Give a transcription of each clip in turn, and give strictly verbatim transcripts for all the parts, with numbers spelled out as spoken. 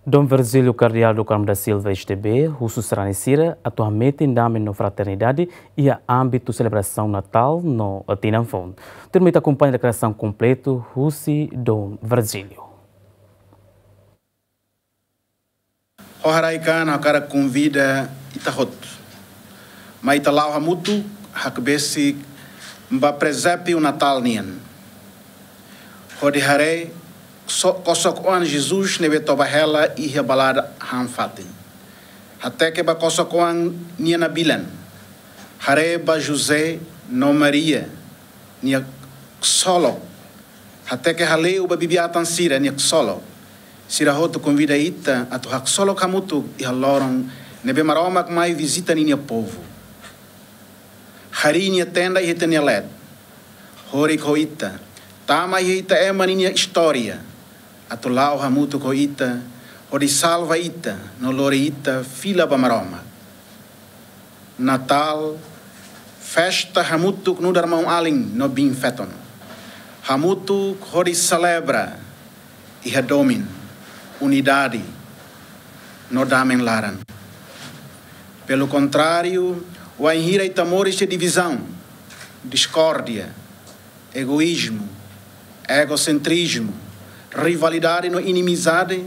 Dom Virgílio Kardeál do Carmo da Silva, S D B, husu sarani sira atu hametin dame no fraternidade iha ámbitu selebrasaun Natál no Tinan Foun. Tuirmai ita akompaña deklarasaun kompletu husi Dom Virgílio. Ho haraik-an ha'u hakarak konvida ita hotu, mai ita la'o hamutuk hakbesik ba prezépiu Natál nian, hodi haree so-, kosok-oan Jesus ne'ebé toba hela iha balada han fatin. Hateke ba kosok-oan nia nabilan. Haree ba José no Maria nia ksolok. Hateke hale'u ba bibi-atan sira nia ksolok. Sira hotu konvida ita atu haksolok hamutuk iha loron ne'ebé Maromak mai vizita ninia povu. Harii nia tenda iha ita-nia leet. Horik ho ita. Tama iha ita ema ninia istória. Atu la'o hamutuk ho ita, hodi salva ita, no lori ita fila ba Maromak. Natál, festa hamutuk nu'udar maun-alin no biin-feton. Hamutuk hodi selebra iha domin, unidade, no damen laran. Pelo contrário, wainhira ita moris iha divizaun, diskórdia, egoízmu, egosentrizmu, rivalidade no inimizade,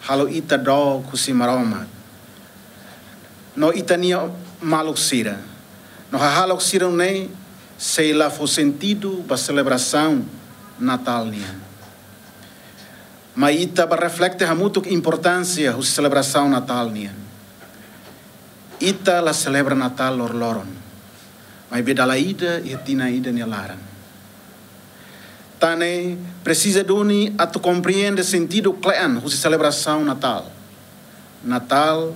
halo ita dook husi Maromak no ita-nia maluk sira. No hahalok sira-ne'e sei la fó sentidu ba selebrasaun Natál nian. Mai ita bá reflete hamutuk importánsia husi selebrasaun Natál nian. Ita la selebra Natál loroloron, maibé dala ida iha tinan ida nia laran. Tan ne'e presiza duni atu komprende sentidu kle'an husi selebrasaun Natál. Natál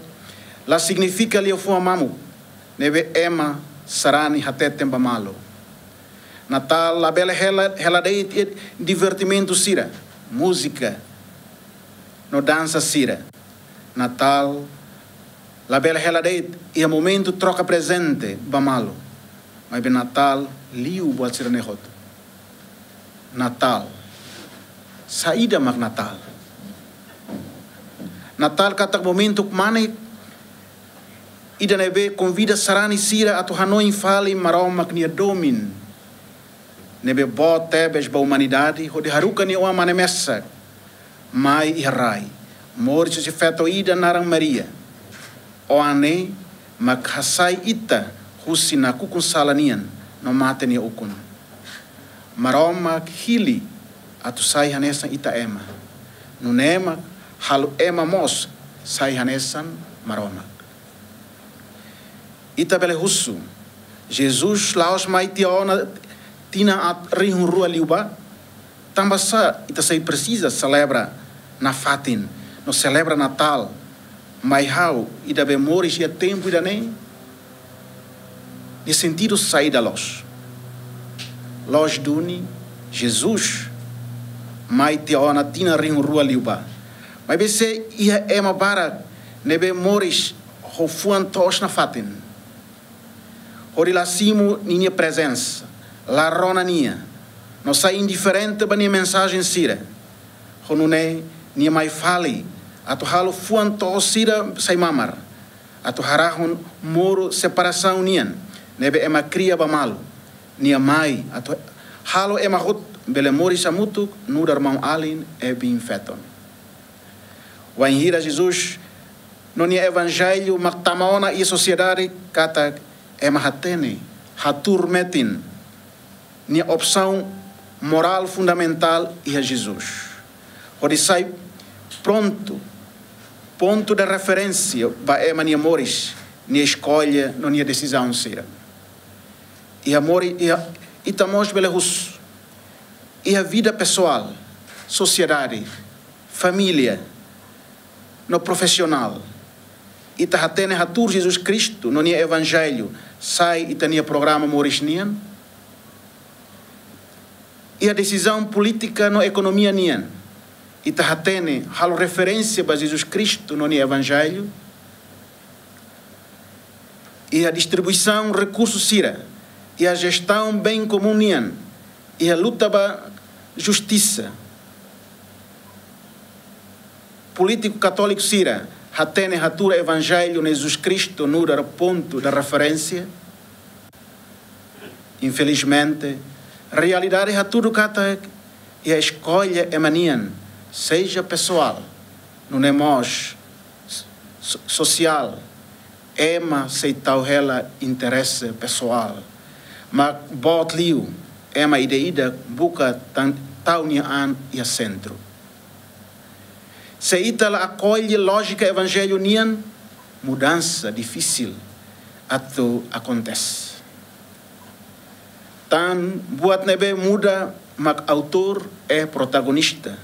la signifika liafuan mamuk ne'ebé ema sarani hateten ba malu. Natál labele hela, hela de'it iha divertimentu sira, múzika no dansa sira. Natál labele hela de'it iha momentu troka prezente ba malu. Maibé Natál liu buat sira-ne'e hotu. Natál. Saida mak Natál? Natál katak momentu kmanek ida ne'ebé konvida sarani sira atu hanoin fali Maromak nia domin ne'ebé boot tebes ba umanidade, hodi haruka nia oan mane mesak mai iha rai, moris husi feto ida naran Maria. Oan ne'e mak hasai ita husi nakukun sala nian no mate nia ukun. Maromak hili atu sai hanesan ita ema. Nune'e mak halo ema mós sai hanesan Maromak. Ita bele husu, Jesus la'ós mai tiha ona tinan aat rihun rua liubá? Tanbasá ita sei presiza selebra nafatin no selebra Natál, mai ha'u ida be moris iha tempu ida-ne'e? Nia sentidu saida loos? Loos duni, Jesus mai tiha ona tinan rihun rua liubá. Maibé sei iha ema barak ne'ebé moris ho fuan toos nafatin, hodi la simu ninia prezensa, la rona nia, no sai indiferente ba nia mensajen sira. Ho nune'e nia mai fali atu halo fuan toos sira sai mamar, atu harahun muru separasaun nian ne'ebé ema kria ba malu. Nia mai atu halo ema hotu bele moris hamutuk nu'udar maun-alin no biin-feton. Wainhira Jesus no nia evanjellu mak tama ona iha sosiedade katak ema hatene, hatuur metin nia opsaun morál fundamentál iha Jesus, hodi sai prontu, pontu de referénsia ba ema nia moris, nia eskolla no nia desizaun sira. Iha mori, iha, ita mós bele husu, iha vida pesoál, sosiedade, família no profisionál, ita hatene hatuur Jesus Kristu no nia evanjellu sai ita-nia programa moris nian? Iha desizaun polítika no ekonomia nian, ita hatene halo referénsia ba Jesus Kristu no nia evanjellu? Iha distribuisaun rekursu sira, iha jestaun bein komún nian, iha luta ba justisa, polítiku katóliku sira hatene hatuur Evanjellu ne'e Jesus Kristu nu'udar pontu de referénsia? Infelizmente, realidade hatudu katak iha eskolla ema nian, seja pesoál, nune'e mós so-, sosiál, ema sei tau hela interese pesoál. Mak boot liu, ema ida-idak buka tan-, tau nia an iha sentru. Se ita la akolle lójika Evanjellu nian, mudansa difisil atu akontese. Tan buat ne'ebé muda mak autór i protagonista,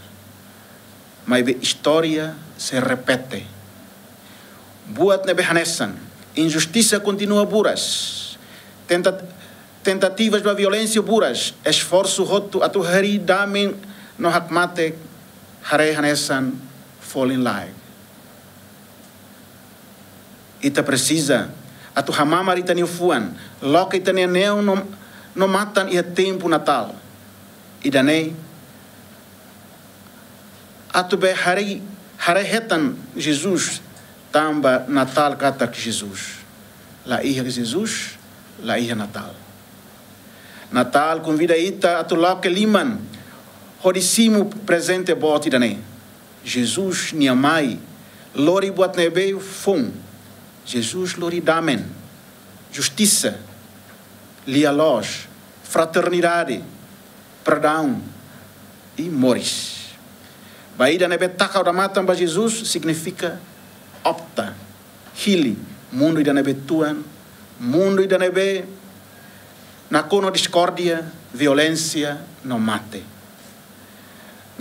maibé istória sei repete. Buat ne'ebé hanesan, injustisa kontinua buras, tenta-, tentativas ba violénsia buras, esforsu hotu atu harii dame no hakmatek haree hanesan folin-laek. Ita presiza atu hamamar ita-nia fuan, loke ita-nia neon no, no matan iha tempu Natál. Ida-ne'e atu bele haree, haree hetan Jesus, tanba Natál katak Jesus. La iha Jesus, la iha Natál. Natál konvida ita atu loke liman hodi simu prezente boot ida-ne'e. Jesus nia mai lori buat ne'ebé foun. Jesus lori dame, justisa, lia-loos, fraternidade, perdaun i moris. Ba ida ne'ebé taka odamatan ba Jesus signifika opta, hili mundu ida ne'ebé tuan, mundu ida ne'ebé nakonu diskórdia, violénsia no mate.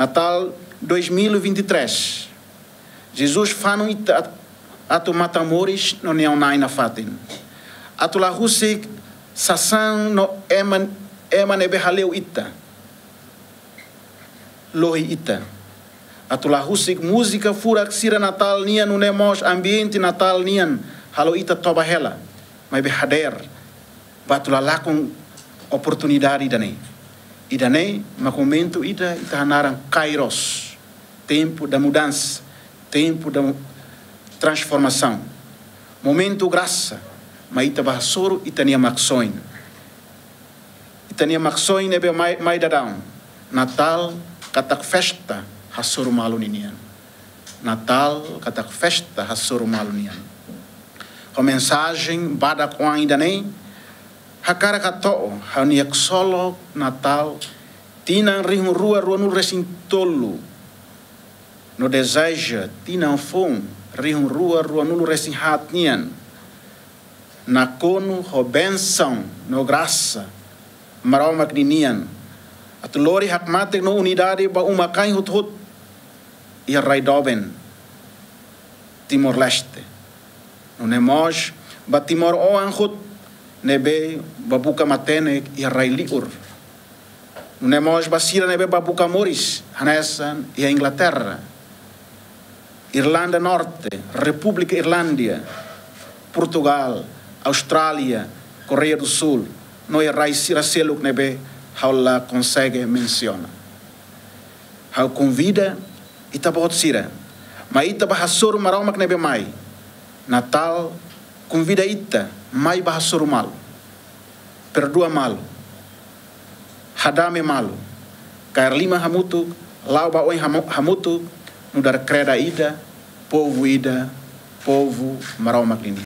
Natál dois mil e vinte e três. Jesus fanu ita at-, atu matan moris no neon-na'in nafatin. Atu la husik sasán no ema, ema ne'ebé hale'u ita, lohi ita. Atu la husik múzika furak sira Natál nian, nune'e mós ambiente Natál nian halo ita toba hela, maibé hadeer ba atu la lakon oportunidade ida-ne'e. Ida-ne'e mak momentu ida ita hanaran Kairos, tempu da mudansa, tempu da transformasaun. Momentu grasa, mak ita bá hasoru ita-nia maksoin. Ita-nia maksoin ne'ebé mai, mai daudaun. Natál katak festa hasoru malu ninian. Natál katak festa hasoru malu nian. Ho mensajen badak-oan ida-ne'e, hakarak hato'o ha'u-nia ksolok Natál tinan rihun rua ruanulu-resin-tolu, no dezeja tinan foun rihun rua ruanulu-resin-haat nian nakonu ho bensaun no grasa Maromak ninian, atu lori hakmatek no unidade ba uma-kain hotu-hotu iha rai doben Timor-Leste, nune'e mós ba timoroan hotu ne'ebé bá buka matenek iha rai liur, nune'e mós ba sira ne'ebé bá buka moris hanesan iha Inglaterra, Irlanda Norte, Repúblika Irlándia, Portugál, Austrália, Koreia do Sul, no iha rai sira seluk ne'ebé ha'u la konsege mensiona. Ha'u konvida ita-boot sira, mai ita bá hasoru Maromak ne'ebé mai. Natál konvida ita mai bá hasoru malu, perdua malu, hadame malu, kaer liman hamutuk, la'o ba oin hamu-, hamutuk, nu'udar kreda ida, povu ida, povu Maromak nian.